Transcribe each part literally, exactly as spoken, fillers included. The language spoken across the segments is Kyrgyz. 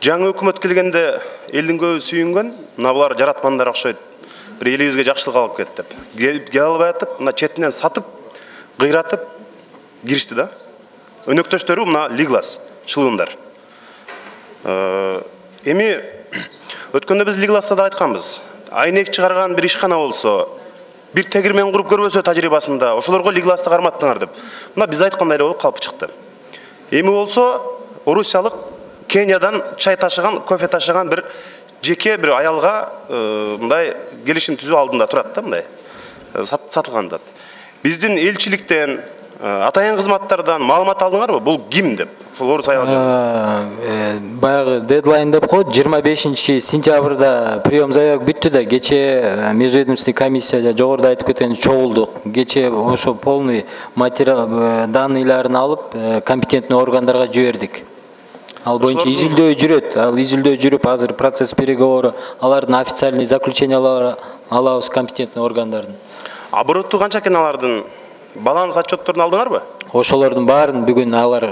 жаңы өкмөт келгенде элдин көбү сүйүнгөн, мына булар жаратмандар окшойт. Бир элибизге жакшылык алып кетти деп. Келе албай атып, мына четинен сатып, кыйратып киришти да. Өнөктөштөрү мына Лиглас, чылуундар. Эми өткөндө биз Лигласта да айтканбыз. Айнек чыгарган бир ишкана болсо, бир тегирмен куруп көрбөсө тажрыйбасында, ошолорго Лигласты карматтыңар деп. Мына биз айткандай болуп калып чыкты. Эми болсо, орусиялык Кениядан чай ташыган, кофе ташыган бир жеке бир аялга мындай келишим түзүү алдында турат да, мындай сатылган деп. Биздин элчиликтен, атайын кызматтардан маалымат алдыңарбы? Бул ким деп? Ошол орус аял жана. Баягы дедлайн деп коет, жыйырма бешинчи сентябрда прием заявок бүттү да, кече межведомственный комиссия жогоруда айтып кеткендей чогулдук. Кече ошо полный материал данныйларын алып, компетентный органдарга жибердик. Ал боюнча изилдөө жүрөт. Ал изилдөө жүрүп, азыр процесс переговору, алардын официальный заключениялары алабыз компетентный органдардын. Оборотту канча экен алардын? Баланс отчетторун алдыңарбы? Ошолордун баарын бүгүн алар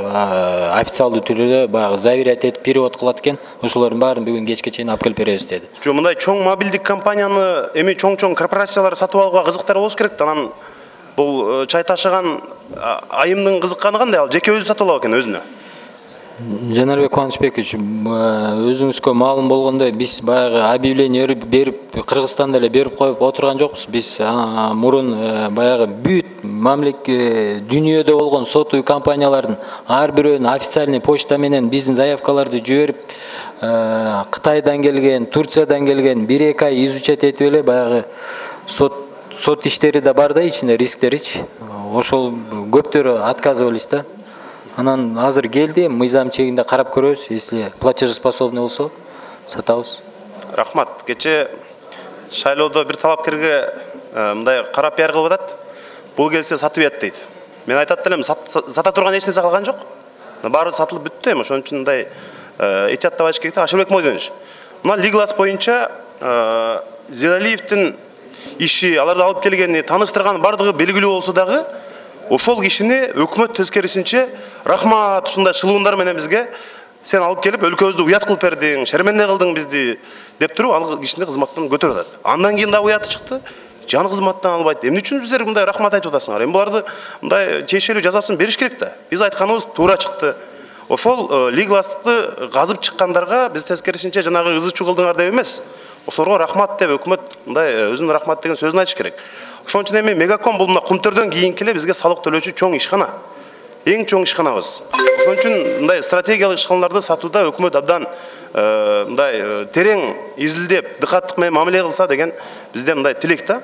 официалдуу түрдө баягы заверять этип перевод кылат экен. Ошолордун баарын бүгүн кечке чейин алып келип беребиз деди. Жо, мындай чоң мобилдик компанияны эми чоң-чоң корпорациялар сатып алууга кызыктар болуш керек да. Анан бул чай ташыган айымдын кызыкканы кандай? Ал жеке өзү сатып алат экен өзүнө. Жанарбек Кубанычбекович, өзүңүзгө маалым болгондой, биз баягы объявление берип, Кыргызстанда эле берип коюп отурган жокпуз. Биз мурун баягы бүт мамлекет дүйнөдө болгон сотуу компаниялардын ар бирөөнүн официальный почта менен биздин заявкаларды жиберип, Кытайдан келген, Турциядан келген бир эки ай изучать этип эле баягы сот сот иштери да бар да, ичинде рисктеричи. Ошол көптөрү отказывались да. Анан азыр келди, мыйзам чегинде карап көрөбүз, если платежеспособный болсо, сатабыз. Рахмат. Кече шайлоодо бир талапкерге мындай кара пиар кылып атат. Бул келсе сатып берет дейт. Мен айтат элем, сата турган эч нерсе калган жок. Баары сатылып бүттү эми, ошон үчүн мындай этияттап айтыш керек да. Ашылбек Мойдонович. Мына Лиглас боюнча Зиралиевдин иши, аларды алып келгени, тааныштырган бардыгы белгилүү болсо дагы, ошол кишини өкмөт тескерисинче рахмат ушундай чылуундар менен бизге сен алып келип өлкөбүздү уят кылып бердиң, шерменде кылдың бизди деп туруп ал кишини кызматтан көтөрүп атат. Андан кийин дагы уяты чыкты. Жан кызматтан албайт. Эмне үчүн силер мындай рахмат айтып атасыңар? Эми буларды мындай тиешелүү жазасын бериш керек да. Биз айтканыбыз туура чыкты. Ошол Лигласты казып чыккандарга биз тескерисинче жанагы ызы чуу кылдыңар деп эмес. Ошолорго рахмат деп өкмөт мындай өзүнүн рахмат деген сөзүн айтыш керек. Ошон үчүн эми Мегаком бул мына Кумтөрдөн кийинки эле бизге салык төлөөчү чоң ишкана. Эң чоң ишканабыз. Ошон үчүн мындай стратегиялык ишканаларды сатууда өкмөт абдан мындай терең изилдеп, дыкаттык менен мамиле кылса деген бизде мындай тилек да.